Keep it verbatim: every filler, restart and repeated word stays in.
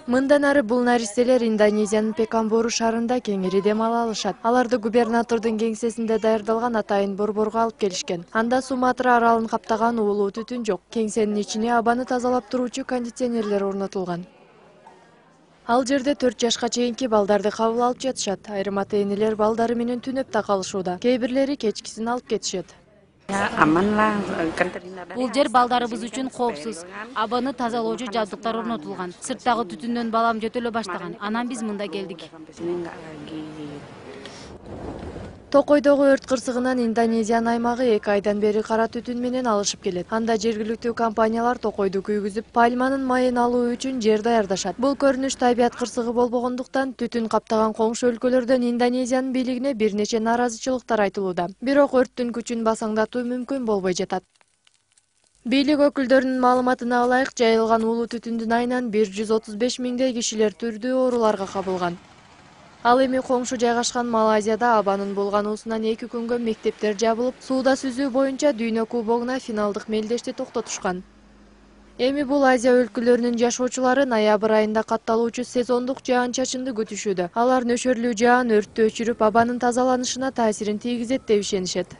Мындан ары бул наристелер Индонезиянын Пекамбуру шаарында кеңири дем ала алышат. Аларды губернатордун кеңсесинде даярдалган атайын борборго алып келишкен. Анда Суматра аралын каптаган уулуу түтүн жок. Кеңсенин ичине абаны тазалап туруучу кондиционерлер орнотулган. Ал жерде төрт жашка чейинки балдарды кабыл алып жатышат. Айрым ата-энелер балдары менен түнөп да калышууда. Кээ бирлери кечкисин алып кетишет. Бул жер балдарыбыз үчүн коопсуз. Абаны тазалоочу жабдыктар орнотулган. Сырттагы түтүндөн балам жөтөлө баштаган. Анан биз мында келдик. Токойдогу өрт кырсыгынан Индонезиянын аймагы эки айдан бери кара түтүн менен алышып келет. Анда жергиликтүү компаниялар токойду күйгүзүп, пальманын майын алуу үчүн жер даярдашат. Бул көрүнүш табият кырсыгы болбогондуктан түтүн каптаган коңшу өлкөлөрдөн Индонезиянын бийлигине бир нече нааразычылыктар айтылууда. Бирок өрттүн күчүн басаңдатуу мүмкүн болбой жатат. Бийлик өкүлдөрүнүн маалыматына ылайык, жайылган уулуу түтүндүн айынан бир жүз отуз беш миңдей кишилер түрдүү ооруларга кабылган. Ал эми коңшу жайгашкан Малайзияда абанын булгануусунан эки күнгө мектептер жабылып, сууда сүзүү боюнча дүйнө кубогуна финалдык мелдешти токтотушкан. Эми бул Азия өлкөлөрүнүн жашоочулары ноябрь айында катталуучу сезондук жаан-чачынды күтүшүүдө. Алар нөшөрлүү жаан өрттү өчүрүп, абанын тазаланышына таасирин тийгизет деп ишенишет.